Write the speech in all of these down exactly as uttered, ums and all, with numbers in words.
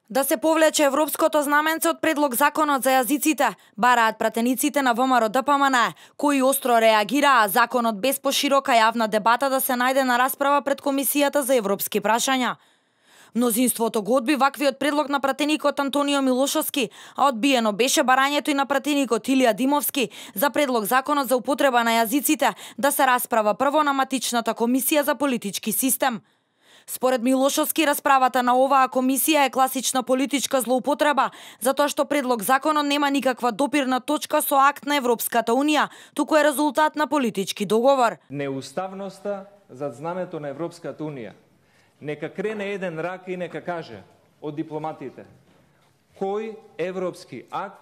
Да се повлече европското знаменце од предлог законот за јазиците, бараат пратениците на ВМРО Д П М Н, кои остро реагираа законот без поширока јавна дебата да се најде на расправа пред Комисијата за европски прашања. Мнозинството го одби ваквиот предлог на пратеникот Антонио Милошовски, а одбиено беше барањето и на пратеникот Илија Димовски за предлог законот за употреба на јазиците да се расправа прво на матичната комисија за политички систем. Според Милошовски, расправата на оваа комисија е класична политичка злоупотреба, затоа што предлог законот нема никаква допирна точка со акт на Европската Унија, туку е резултат на политички договор. Неуставноста зад знамето на Европската Унија. Нека крене еден рак и нека каже од дипломатите кој европски акт,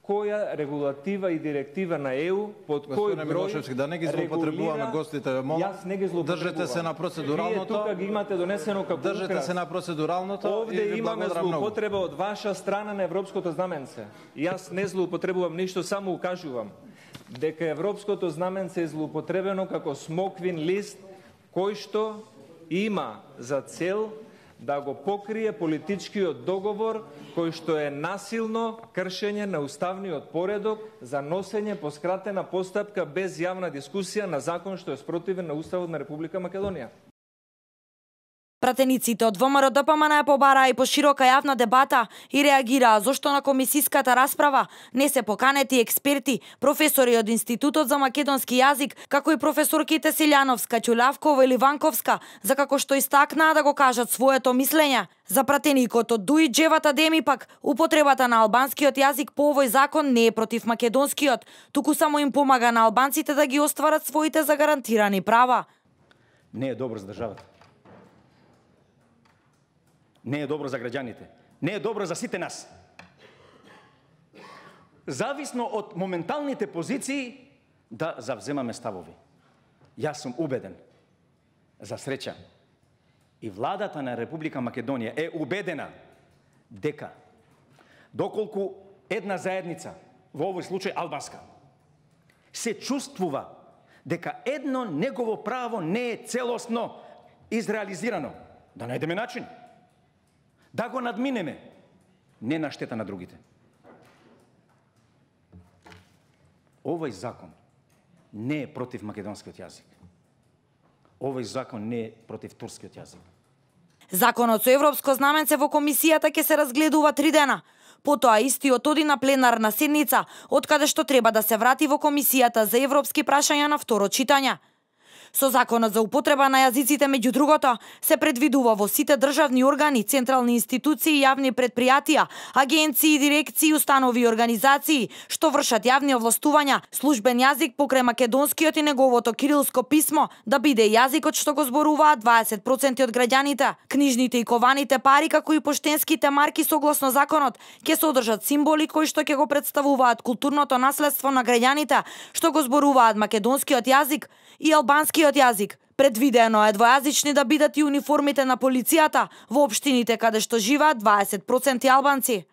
која регулатива и директива на Е У, под кој број Милошевски, да не ги злоупотребуваме гостите, молам. Јас не ги злоупотребувам. Држете се на процедуралното. Вие тука ги имате донесено како Држете украс. се на процедуралното. Овде имаме злоупотреба од ваша страна на европското знаменце. Јас не злоупотребувам ништо, само укажувам дека европското знаменце е злоупотребено како смоквин лист кој што има за цел да го покрие политичкиот договор кој што е насилно кршење на уставниот поредок за носење по скратена постапка без јавна дискусија на закон што е спротивен на Уставот на Република Македонија. Пратениците од ВМРО Д П М Н побараа и поширока јавна дебата и реагираа зошто на комисиската расправа не се поканети експерти, професори од Институтот за македонски јазик, како и професорките Силјановска, Ќулавкова или Ванковска, за како што истакнаа да го кажат своето мислење. За пратеникот од Дуи Џевата Деми пак, употребата на албанскиот јазик по овој закон не е против македонскиот, туку само им помага на албанците да ги остварат своите загарантирани права. Не е добро за државата. Не е добро за граѓаните. Не е добро за сите нас. Зависно од моменталните позиции да завземаме ставови. Јас сум убеден, за среќа, и владата на Република Македонија е убедена дека доколку една заедница, во овој случај албанска, се чувствува дека едно негово право не е целосно изреализирано, да најдеме начин да го надминеме, не на штета на другите. Овој закон не е против македонскиот јазик. Овој закон не е против турскиот јазик. Законот со европско знаменце во комисијата ќе се разгледува три дена. Потоа истиот оди на пленарна седница, откаде што треба да се врати во комисијата за европски прашања на второ читање. Со законот за употреба на јазиците, меѓу другото, се предвидува во сите државни органи, централни институции, јавни предпријатија, агенции, дирекции, установи и организации што вршат јавни овластувања, службен јазик покрај македонскиот и неговото кирилско писмо да биде јазикот што го зборуваат дваесет проценти од граѓаните. Книжните и кованите пари, како и поштенските марки согласно законот, ќе содржат символи кои што ќе го представуваат културното наследство на граѓаните што го зборуваат македонскиот јазик и албанскиот јазик. Предвидено е двојазични да бидат и униформите на полицијата во општините каде што живеат дваесет проценти албанци.